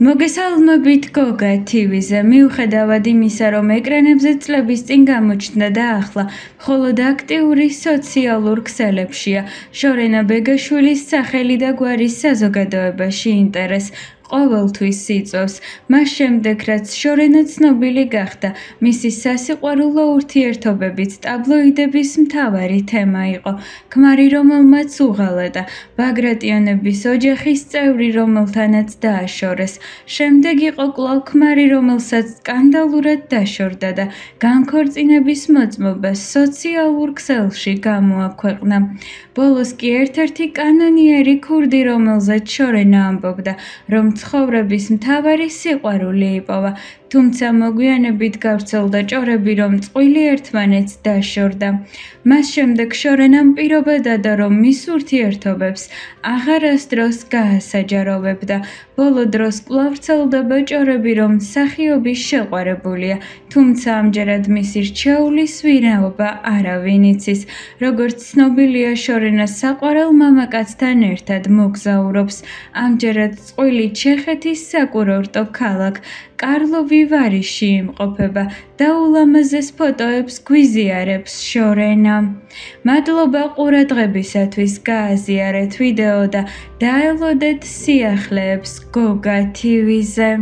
მოგესალმებით გოგა TV-ზე. მიუხედავად იმისა, რომ ეკრანებზე წლების წინ გამოჩნდა და ახლა მხოლოდ აქტიური სოციალურ ქსელებშია, შორენა ბეგაშვილის სახელი და გვარის საზოგადოებაში ინტერესს ყოველთვის იწვევს. მას შემდეგ, რაც შორენა ცნობილი გახდა, მისი სასიყვარულო ურთიერთობებით ტაბლოიდების მთავარი თემა იყო. ქმარი, რომელმაც უღალა და ბაგრატიონების ოჯახის წევრი, რომელთანაც დააშორეს. შემდეგ იყო კვლავ ქმარი, რომელსაც სკანდალურად დაშორდა და განქორწინების მოწმობა სოციალურ ქსელში გამოაქვეყნა. ბოლოს კი ერთ-ერთი კანონიერი ქურდი, რომელზეც შორენა ამბობდა, რომ ცხოვრების მთავარი სიყვარული იპოვა, თუმცა მოგვიანებით გავრცელდა ჭორები, რომ წყვილი ერთმანეთს დაშორდა. მას შემდეგ შორენამ პირობა დადა, რომ მის ურთიერთობებს აღარასდროს გაასაჯაროვებდა. ბოლო დროს კვლავ ვრცელდება ჭორები, რომ მსახიობი შეყვარებულია, თუმცა ამჯერად მისი რჩეულის ვინაობა არავინ იცის. როგორც ცნობილია, შორენა საყვარელ მამაკაცთან ერთად მოგზაურობს. ამჯერად წყვილი ჩეხეთის საკურორტო ქალაქ კარლოვი ვარიში იმყოფება და ულამაზეს ფოტოებს გვიზიარებს შორენა. მადლობა ყურადღებისათვის, გააზიარეთ ვიდეო და დაელოდეთ სიახლეებს გოგა TV-ზე.